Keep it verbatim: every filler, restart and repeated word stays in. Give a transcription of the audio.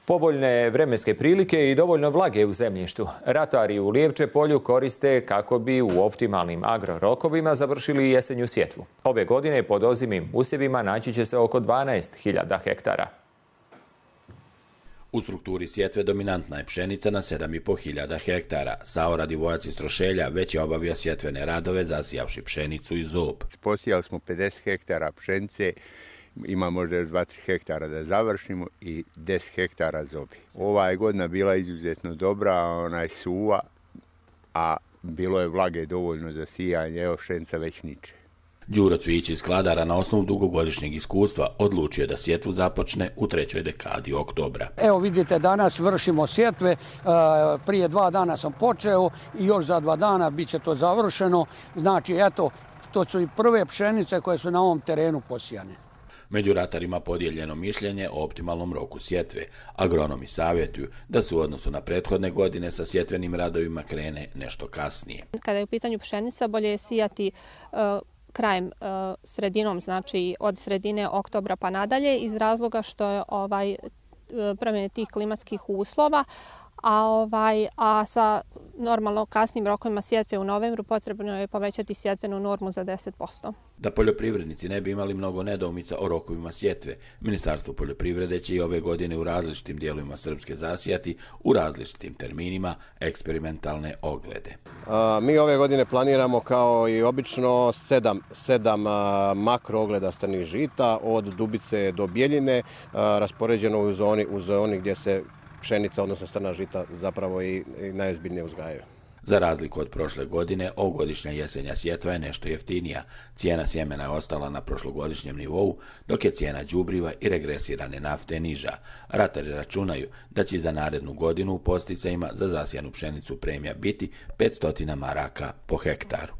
Povoljne vremenske prilike i dovoljno vlage u zemljištu ratari u Lijevče polju koriste kako bi u optimalnim agrorokovima završili jesenju sjetvu. Ove godine pod ozimim usjevima naći će se oko dvanaest hiljada hektara. U strukturi sjetve dominantna je pšenica na sedam i po hiljada hektara. Sao Radivojac iz Trošelja već je obavio sjetvene radove zasijavši pšenicu i zob. Posijali smo pedeset hektara pšenice, ima možda još dvadeset hektara da završimo i deset hektara zobi. Ova je godina bila izuzetno dobra, ona je suva, a bilo je vlage dovoljno za sijanje, evo pšenica već niče. Đuro Cvijić iz Kladara na osnovu dugogodišnjeg iskustva odlučio da sjetvu započne u trećoj dekadi oktobra. Evo vidite, danas vršimo sjetve, prije dva dana sam počeo i još za dva dana bit će to završeno. Znači, eto, to su i prve pšenice koje su na ovom terenu posijane. Među ratarima podijeljeno mišljenje o optimalnom roku sjetve. Agronomi savjetuju da se u odnosu na prethodne godine sa sjetvenim radovima krene nešto kasnije. Kada je u pitanju pšenica, bolje je sijati uh, krajem, uh, sredinom, znači od sredine oktobra pa nadalje, iz razloga što je ovaj, promjene tih klimatskih uslova, a, ovaj, a sa normalno kasnim rokovima sjetve u novembru potrebno je povećati sjetvenu normu za deset posto. Da poljoprivrednici ne bi imali mnogo nedoumica o rokovima sjetve, Ministarstvo poljoprivrede će i ove godine u različitim dijelovima Srpske zasijati u različitim terminima eksperimentalne oglede. A, mi ove godine planiramo kao i obično sedam, sedam a, makro ogleda strnih žita od Dubice do Bjeljine, a, raspoređeno u zoni, u zoni gdje se pšenica, odnosno strna žita, zapravo i, i najozbiljnije uzgajaju. Za razliku od prošle godine, ovogodišnja jesenja sjetva je nešto jeftinija. Cijena sjemena je ostala na prošlogodišnjem nivou, dok je cijena đubriva i regresirane nafte niža. Ratari računaju da će za narednu godinu u posticajima za zasijanu pšenicu premija biti petsto maraka po hektaru.